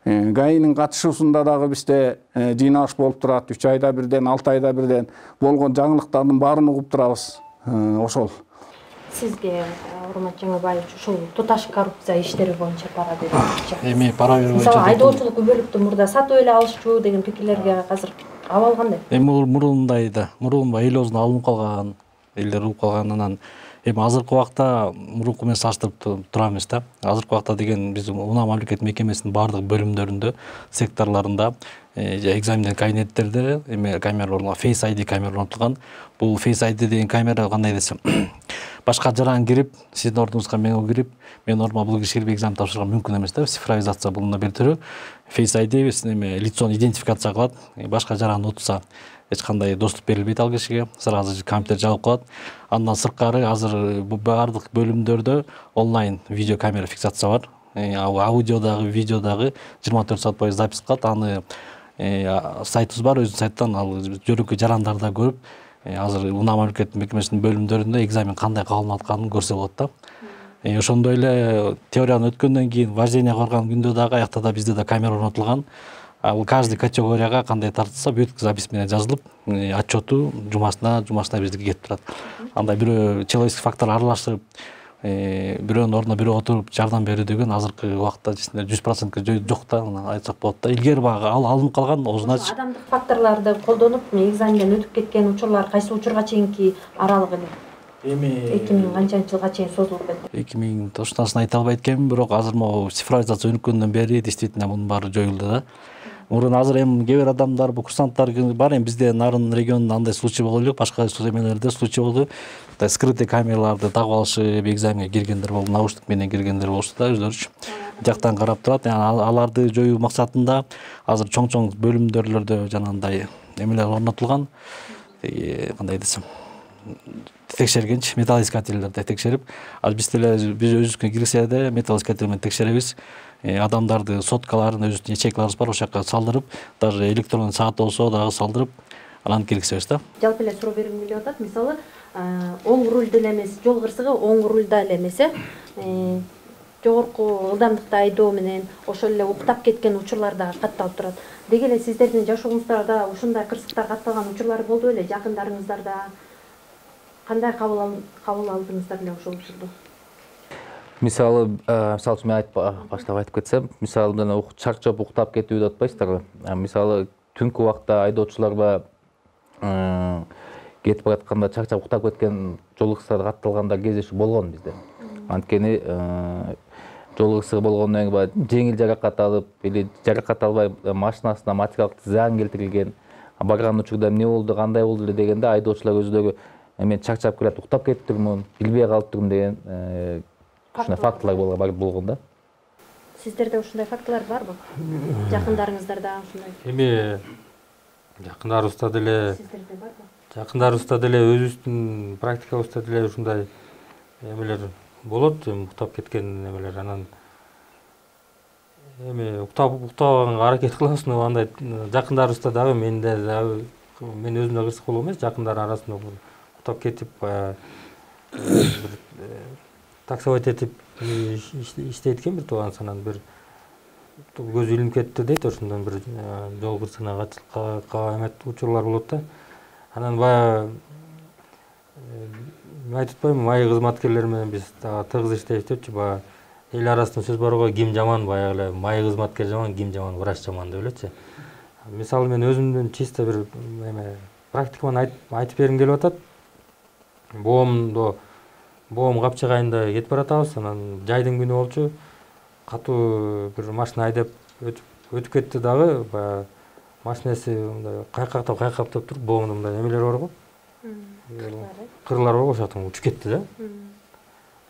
Speaker 13: ГАИнин катышуусунда дагы бизде жыйналыш болуп турат. 3 айда бирден, 6 айда бирден болгон жаңылыктардын баарын угуп турабыз. Ошол.
Speaker 1: Сизге Урмат Жаңыбаев ушул туташ коррупция иштери боюнча пара берүүчү.
Speaker 15: Эми пара берүү боюнча.
Speaker 1: Мисалы айдоочулук күбөлүктү мурда сатып эле алышчу деген пикирлерге азыр абал кандай?
Speaker 15: Эми мурундай да, элибиздин алынып калган, элдер угуп калган, анан эми азыркы убакта мурунку менен салыштырып турабыз да. Азыркы убакта деген биз унаа мамлекеттик мекемесинин баардык бөлүмдөрүндө, секторлорунда, экзамендер кабинеттерде эми камера орнотулган, Face ID камера орнотулган. Бул Face ID деген камера кандай десем, башка жаран кирип, сиздин ордуңузга мен кирип, мен ордума бул киши кирип экзамен тапшырганга мүмкүн эмес да. Цифровизация бул бир түрү. Face ID лицону идентификация кылат. Башка жаран утса эч кандай доступ берилбейт ал кишиге. Сразу компьютер жабылып калат. Андан сырткары азыр баардык бөлүмдөрдө онлайн видео камера фиксация бар. Аудиодагы, видеодагы 24 саат бою запись кылат. Аны сайтыбыз бар, өзүнүн сайттан ал жөнөкөй жарандар да көрүп, азыр унаа мамлекеттик мекемесинин бөлүмдөрүндө экзамен кандай кабыл алынып атканын көрсө болот да. Ошондой эле теорияны өткөндөн кийин вождение кылган күндө дагы аякта да бизде да камера орнотулган. Ал каждый категорияга кандай тартылса, бүт запись менен жазылып, отчету жумасына биздики кетип турат. Андай бирөө человеческий фактор аралашып, бирөөнүн ордуна бирөө отуруп жардам берүү деген азыркы убакта 100% жок да, айтсак болот да. Илгери багы алынып калган озунач.
Speaker 1: Адамдык факторлорду колдонуп, экзаменден өтүп кеткен учурлар кайсы учурга чейинки аралык эле? Эми 2000 канчанчы жылга чейин созулуп кетти?
Speaker 15: 2000 точносын айта албайт экенмин, бирок азыр могу цифровизация өнүккөндөн бери действительно мунун баары жоюлду да. Мурун азыр эми кээ бир адамдар, бул курсанттар бар, эми бизде нарын регионунда андай случай болгон жок, башка эмелерде случай болду. Скрытый камераларды тагып алышып, экзаменге киргендер болду, наушник менен киргендер болушту да, өздөрүчү. Жактан карап турат. Аларды жоюу максатында азыр чоң бөлүмдөрдө жанагындай эмелер орнотулган. Кандай десем, текшергенчи металлоискательлерди текшерип, биз өзүбүзгө кирсе да металлоискатель менен текшеребиз. Адамдарды соткаларын, өзүбүздүн ячейкаларыбыз бар, ошол жака салдырып, даже электрондук саат болсо дагы салдырып, анан киргизебиз да.
Speaker 1: Жалпы эле суроо бергим келип атат. Мисалы, оң рульда эле эмес, жол кырсыгы оң рульда эле эмес, жогорку ылдамдыкта айдоо менен ошол эле уктап кеткен учурлар дагы катталып турат. Деги эле сиздердин жашооңуздарда ушундай кырсыктар катталган учурлар болду беле? Жакындарыңыздарда кандай кабыл алдыңыздар эле ошол учурду?
Speaker 10: Мисалы үчүн мен баштап айтып кетсем, мисалы мына чарчап уктап кетүү деп атпайсыздарбы? Мисалы түнкү убакта айдоочуларга кетип баратканда чарчап уктап кеткен жол кырсыгы катталгандар кездешүү болгон бизде. Анткени жол кырсыгы болгондон кийин жеңил жаракат алып или жаракат албай машинасына материалдык зыян келтирилген, барган учурда эмне болду, кандай болду эле дегенде айдоочулар өздөрү мен чарчап келет, уктап кетиптирмин, билбей калыптырмын деген ушундай фактылар болгон да.
Speaker 1: Сиздерде ушундай фактылар барбы? Жакындарыңыздарда ушундай?
Speaker 14: Эми жакындарыбызда деле
Speaker 1: Сиздерде барбы?
Speaker 14: Жакындарыбызда деле өзүбүздүн практикабызда деле ушундай эмелер болот, уктап кеткен эмелер. Анан эми уктабаганга аракет кылабыз, но андай жакындарыбызда дагы мен өзүм да кырсык болгон эмес, жакындар арасында уктап кетип таксовать этип иштейт экен бир тууганыс, анан бир көзү илинип кетти дейт, ошондон бир жол кырсыгына катышкан учурлар болот да. Анан баягы айтып атпаймынбы, майы кызматкерлер менен биз тыгыз иштейбиз депчи, баягы эл арасында сөз бар го, ким жаман, баягы эле майы кызматкер жаман, ким жаман, врач жаман деп элечи. Мисалы мен өзүмдүн чисто бир практикаман айтып бергим келип атат. Боом капчык айында кетип баратабыз, анан жайдын күнү болчу, катуу бир машина айдап өтүп кетти дагы, баягы машинеси мындай кайкактап туруп, боомдо мындай эмелер бар го. Кырлар бар го, ошол жактан учуп кетти да.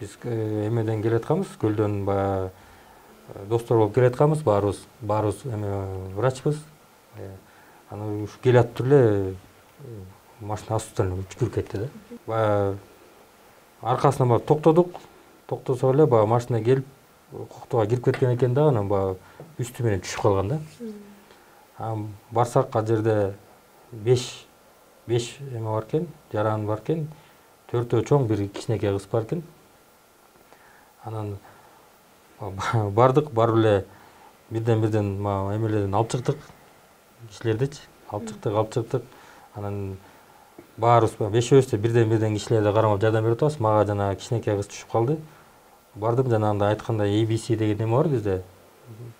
Speaker 14: Биз эмеден келатканбыз, көлдөн баягы достор болуп келатканбыз, баарыбыз врачпыз. Анан ушу келатып эле машина астынан учуп кетти да. Баягы аркасынан барып токтосо эле баягы машина келип коктоого кирип кеткен экен да, анан баягы үстү менен түшүп калган да. Барсак ал жерде 5 эме бар экен, жаран бар экен, 4 чоң, бир кичинекей кыз бар экен. Анан бардык, барып эле бирден эмелерден алып чыктык, кишилердичи алып чыктык. Анан баарыбыз бешөөбүз бирден кишилерге кармап жардам берип атабыз. Мага жана кичинекей кыз түшүп калды. Бардым, жанагындай айткандай ABC деген эме бар бизде.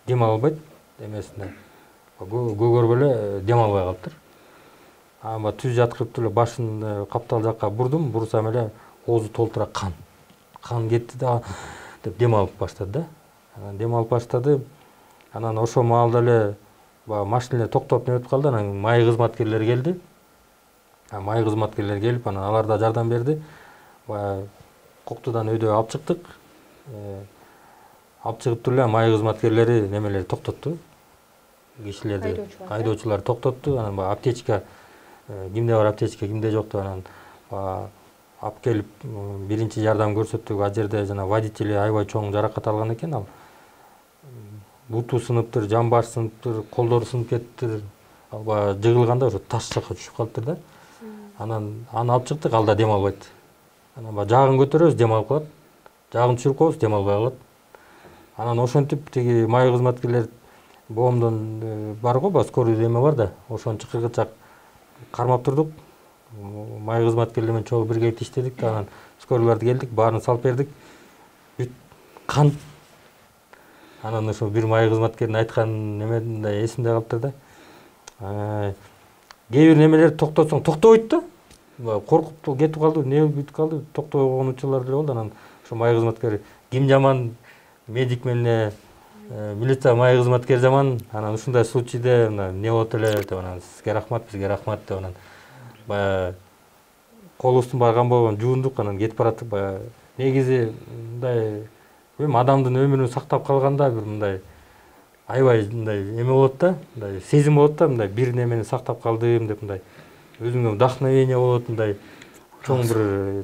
Speaker 14: Дем албайт эмесинде. Көгөрүп эле дем албай калыптыр. Ама түз жаткырып эле башын каптал жакка бурдум, бурсам эле оозу толтура кан кетти да деп дем алып баштады да. Анан дем алып баштады. Анан ошол маалда эле машиналар токтоп неметип калды. Анан май кызматкерлери келди. Май кызматкерлери келип, анан алар да жардам берди. Коктудан өйдө алып чыктык. Алып чыгып эле май кызматкерлери немелерди токтотту. Кишилерди, айдоочуларды токтотту. Анан аптечка, кимде бар аптечка, кимде жок деп анан алып келип биринчи жардам көрсөттүк. Ал жерде жана водители аябай чоң жаракат алган экен. Ал буту сыныптыр, жамбаш сыныптыр, колдору сынып кеттир. Ал жыгылганда ошо таш жакка түшүп калыптыр да. Анан аны алып чыктык, ал да дем албайт. Анан жагын көтөрөбүз, дем алып калат. Жагын түшүрүп коебуз, дем албай калат. Анан ошентип тиги май кызматкерлер боомдон бар го, скорый эме бар да, ошону чакыргычак кармап турдук. Май кызматкерлер менен чогуу биргеликте иштедик да, анан скорыйларды келдик, баарын салып бердик. Бүт кан. Анан ошо бир май кызматкердин айткан немеде эсимде калыптыр да. Кээ бир немелерди токтотсоң токтобойт да. Коркуп кетип калды, не бүтүп калды, токтобогон учурлар деле болду. Анан ошо май кызматкер ким жаман, медик менен милиция май кызматкери жаман. Анан ушундай случайда не болот эле деп анан сизге рахмат, бизге рахмат деп анан баягы колубуздун барган болгон жуундук, анан кетип бараттык. Баягы негизи мындай адамдын өмүрүн сактап калганда бир мындай аябай мындай эме болот да, мындай сезим болот да, мындай бир немени сактап калдым деп мындай өзүңө вдохновение болот, мындай чоң бир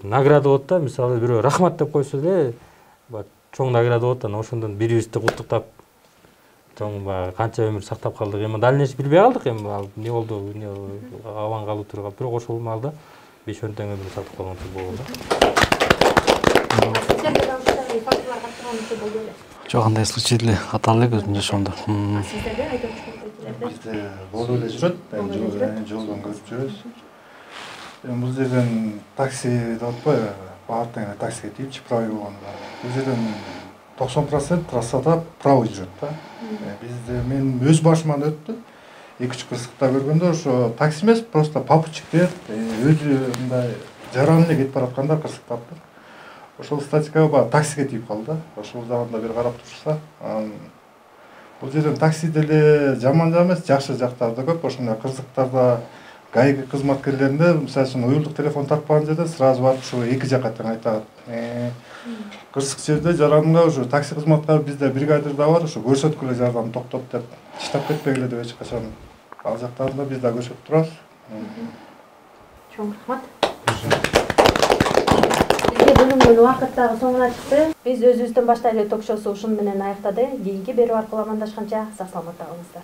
Speaker 14: награда болот да. Мисалы бирөө рахмат деп койсо эле чоң награда болот. Анан ошондон бири-бирибизди куттуктап чоң канча өмүр сактап калдык. Эми дальнейший билбей калдык, эми ал не болду, аман калып туруп калып. Бирок ошол маалда 5-10 тең өмүр сактап калган болгон да.
Speaker 15: Жок, андай случай деле каталы элек өзүмдүн жашоомдо.
Speaker 11: Сиздерде бизде болуп эле жүрөт, жолдон көрүп жүрөбүз. Бул жерден такси деп атпайбы, баардыгы таксиге тийип правый болгон. Бул жерден 90% трассада правый жүрөт да. Бизде мен өз башыман өттү. 2-3 кырсыкта көргөндө ошо такси эмес, просто попутчиктер өзү мындай жаран эле кетип баратканда кырсыктаптыр. Ошол статикага таксиге тийип калды да. Ошол жагында бир карап турса, бул жерден такси деле жаман эмес, жакшы жактары да көп. Ошондой кырсыктарда ГАИ кызматкерлеринде, мисалы үчүн уюлдук телефон тарткан жерде сразу барып ошо эки жакка тең айтат. Кырсык жерде жаранга ошо такси кызматкары бизде бригадирда бар, ошо көрсөткүлө жардам токтот деп, таштап кетпегиле деп эч качан ал жактарында биз да көрсөтүп турабыз.
Speaker 1: Чоң рахмат. Бүгүнкү убакыт дагы соңуна чыкты. Биз өзүбүздөн баштайлы ток-шоусу ушун менен аяктады. Кийинки берүү аркылуу амандашканча сак саламатта калыңыздар.